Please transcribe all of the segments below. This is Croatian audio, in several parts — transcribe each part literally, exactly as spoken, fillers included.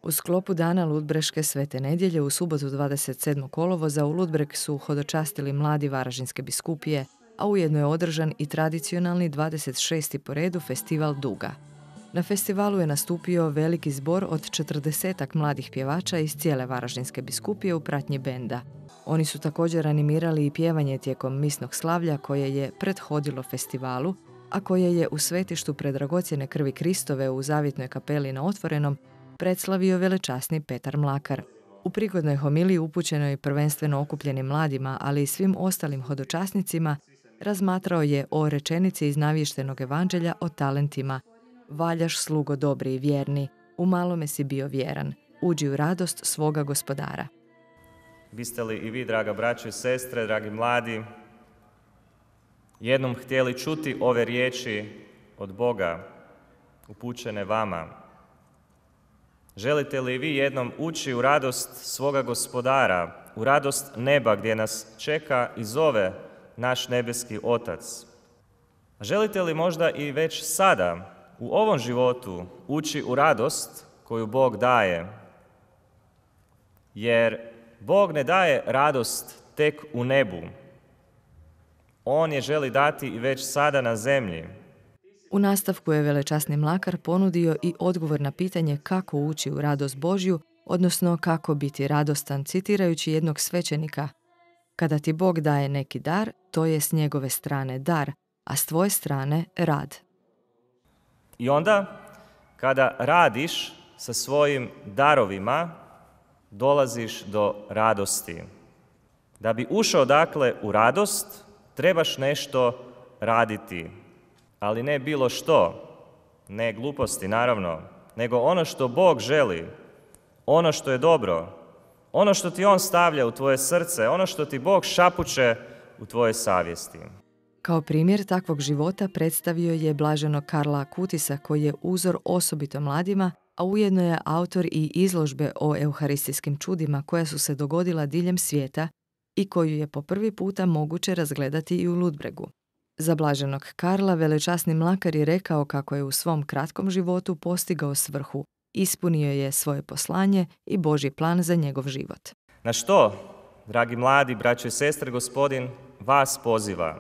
U sklopu Dana Ludbreške svete nedjelje u subotu dvadeset sedmog kolovoza u Ludbreg su hodočastili mladi Varaždinske biskupije, a ujedno je održan i tradicionalni dvadeset šesti po redu festival Duga. Na festivalu je nastupio veliki zbor od četrdesetak mladih pjevača iz cijele Varaždinske biskupije u pratnji benda. Oni su također animirali i pjevanje tijekom misnog slavlja koje je prethodilo festivalu, a koje je u svetištu predragocjene krvi Kristove u Zavjetnoj kapeli na Otvorenom predslavio velečasni Petar Mlakar. U prigodnoj homiliji upućenoj prvenstveno okupljenim mladima, ali i svim ostalim hodočasnicima, razmatrao je o rečenici iz navještenog evanđelja o talentima. Valjaš, slugo dobri i vjerni, u malome si bio vjeran, uđi u radost svoga gospodara. Biste li i vi, draga braćo i sestre, dragi mladi, jednom htjeli čuti ove riječi od Boga upućene vama? Želite li vi jednom ući u radost svoga gospodara, u radost neba gdje nas čeka i zove naš nebeski Otac? Želite li možda i već sada u ovom životu ući u radost koju Bog daje? Jer Bog ne daje radost tek u nebu. On je želi dati i već sada na zemlji. U nastavku je velečasni Mlakar ponudio i odgovor na pitanje kako ući u radost Božju, odnosno kako biti radostan, citirajući jednog svećenika. Kada ti Bog daje neki dar, to je s njegove strane dar, a s tvoje strane rad. I onda, kada radiš sa svojim darovima, dolaziš do radosti. Da bi ušao dakle u radost, trebaš nešto raditi. Ali ne bilo što, ne gluposti naravno, nego ono što Bog želi, ono što je dobro, ono što ti On stavlja u tvoje srce, ono što ti Bog šapuće u tvoje savjesti. Kao primjer takvog života predstavio je blaženog Karla Kutisa, koji je uzor osobito mladima, a ujedno je autor i izložbe o euharistijskim čudima koja su se dogodila diljem svijeta i koju je po prvi puta moguće razgledati i u Ludbregu. Za blaženog Karla velečasni Mlakar je rekao kako je u svom kratkom životu postigao svrhu, ispunio je svoje poslanje i Božji plan za njegov život. Na što, dragi mladi, braćo i sestre, Gospodin vas poziva?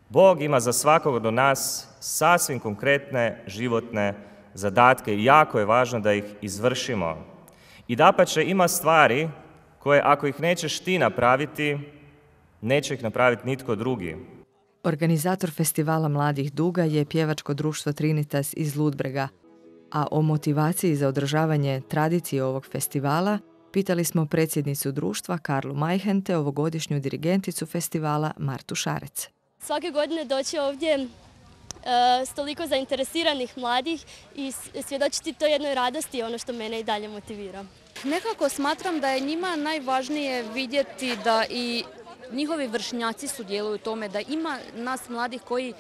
Bog ima za svakog od nas sasvim konkretne životne zadatke i jako je važno da ih izvršimo. I dapače, ima stvari koje ako ih nećeš ti napraviti, neće ih napraviti nitko drugi. Organizator festivala Mladih Duga je pjevačko društvo Trinitas iz Ludbrega, a o motivaciji za održavanje tradicije ovog festivala pitali smo predsjednicu društva Karlu Majhen te ovogodišnju dirigenticu festivala Martu Šarec. Svake godine doći ovdje e, s toliko zainteresiranih mladih i svjedočiti to jednoj radosti je ono što mene i dalje motivira. Nekako smatram da je njima najvažnije vidjeti da i njihovi vršnjaci sudjeluju u tome, da ima nas mladih koji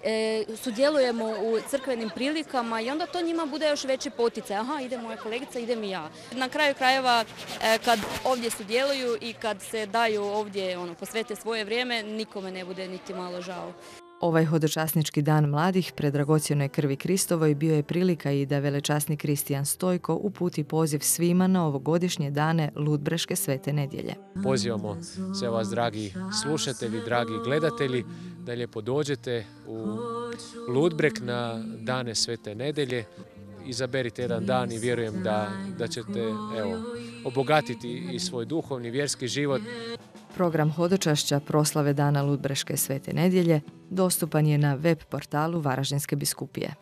e, sudjelujemo u crkvenim prilikama i onda to njima bude još veći poticaj. Aha, ide moja kolegica, idem i ja. Na kraju krajeva, e, kad ovdje sudjeluju i kad se daju ovdje, ono, posvete svoje vrijeme, nikome ne bude niti malo žao. Ovaj hodočasnički dan mladih predragocjenoj krvi Kristovoj bio je prilika i da velečasni Kristijan Stojko uputi poziv svima na ovogodišnje dane Ludbreške svete nedjelje. Pozivamo sve vas, dragi slušatelji, dragi gledatelji, da lijepo dođete u Ludbreg na dane svete nedjelje. Izaberite jedan dan i vjerujem da, da ćete evo, obogatiti i svoj duhovni, vjerski život. Program hodočašća proslave Dana Ludbreške svete nedjelje dostupan je na web portalu Varaždinske biskupije.